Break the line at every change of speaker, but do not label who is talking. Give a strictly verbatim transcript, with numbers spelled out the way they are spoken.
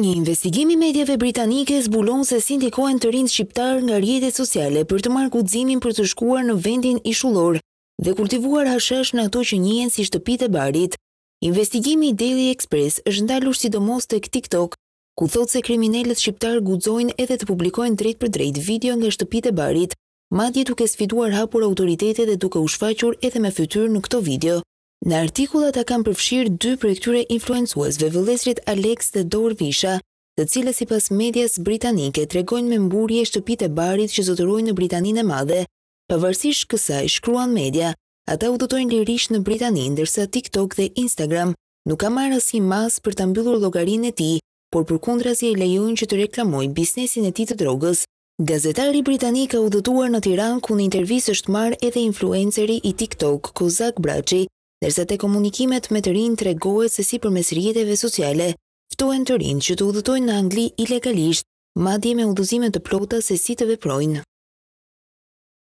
Një investigim i mediave britanike zbulon se si ndikohen të rinjtë shqiptarë nga rrjetet sociale për të marrë guximin për të shkuar në vendin ishullor dhe kultivuar hashash në ato që njihen si shtëpitë e barit. Investigimi i Daily Express është ndalur sidomos tek TikTok, ku thotë se kriminelët shqiptarë guxojnë edhe të publikojnë drejtpërdrejt video nga shtëpitë e barit, madje duke sfiduar hapur autoritetet dhe duke u shfaqur edhe me fytyrë në këto video. Në artikull ata kanë përfshirë dy prej këtyre influencuesve, vëllezërit Alex dhe Dor Visha, të cilët sipas medias britanike tregojnë me mburrje shtëpitë e barit që zotërojnë në Britaninë e Madhe. Pavarësisht kësaj, shkruan media, ata udhëtojnë lirisht në Britani, ndërsa TikTok dhe Instagram nuk ka marrë asnjë masë për ta mbyllur llogarinë e tij, por përkundrazi e lejojnë që të reklamojë biznesin e tij të drogës. Gazetari britanik ka udhëtuar në Tiranë, ku në intervistë është marrë edhe influenceri i TikTok, Kozak Braçi, ndërsa te komunikimet me të rinj tregohet se si përmes rrjeteve sociale ftohen të rinj që të udhëtojnë në Angli ilegalisht, madje me udhëzime të plota se si të veprojnë.